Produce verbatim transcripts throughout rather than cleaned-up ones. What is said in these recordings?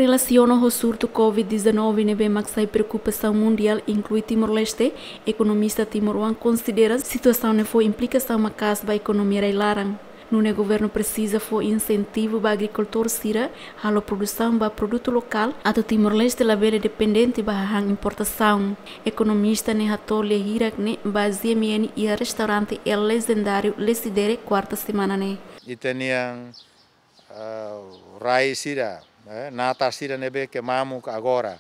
Relasiona ho surtu Covid dezanove ne'ebé mak sai preokupasaun mundiál, inklui Timor-Leste, ekonomista timoroan konsidera situasaun ne'e fó implikasaun maka'as ba ekonomia rai-laran. Nune'e governu presiza fó insentivu ba agrikultór sira halo produsaun ba produtu lokál, atu Timor-Leste labele dependente ba hahán importasaun. Ekonomista ne'e hato'o lia hirak ne'e ba G M N iha restaurante El Legendário Lecidere, kuarta semana ne'e. Ita-nian, ah, rai sira, eh, natar sira ne'ebé ke mamuk agora.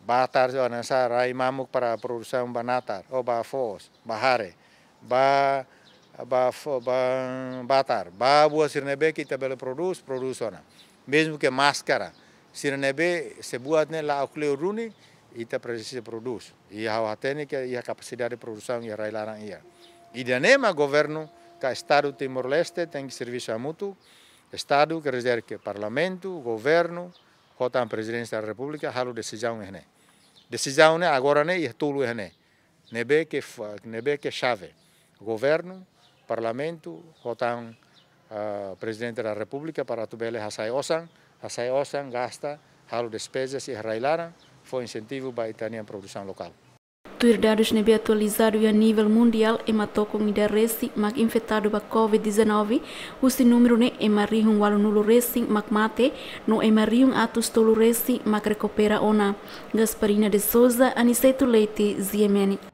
Batar, oh, hanesan rai mamuk para produsaun ba natar, ou ba foos, ba hare, ba, ba fo-, ba batar, ba buat sira ne'ebé ke ita bele prodús, prodús ona. Mezmu ke máskara, sira ne'ebé se buat ne'e la'o kleur duni, ita presiza prodús. I ha'u hatene ke iha kapasidade produsaun iha rai-laran iha. Ida-ne'e mak governu ka Estadu Timor-Leste tenke servisu hamutuk. Estadu, quer dizer que Parlamentu, governu, ho tan Prezidénsia da Repúblika halo desizaun iha ne'e. Desizaun ne'e agora ne'e iha tolu iha ne'e. Ne'ebé ke fa-, ne'ebé ke xave. Governu, Parlamentu, ho tan, ah, Prezidente da Repúblika para atu bele hasai osan, hasai osan, gasta, halo despezas iha rai-laran, fó insentivu ba ita-nian produsaun lokál. Tuir dadus ne'ebé atualizadu iha nivel mundiál, ema tokon ida resin mak infetadu ba Covid dezanove, husi númeru ne'e ema rihun ualunulu resin mak mate, no ema rihun atus tolu resin mak rekupera ona. Gasparina de Souza, Aniceto Leite, G M N.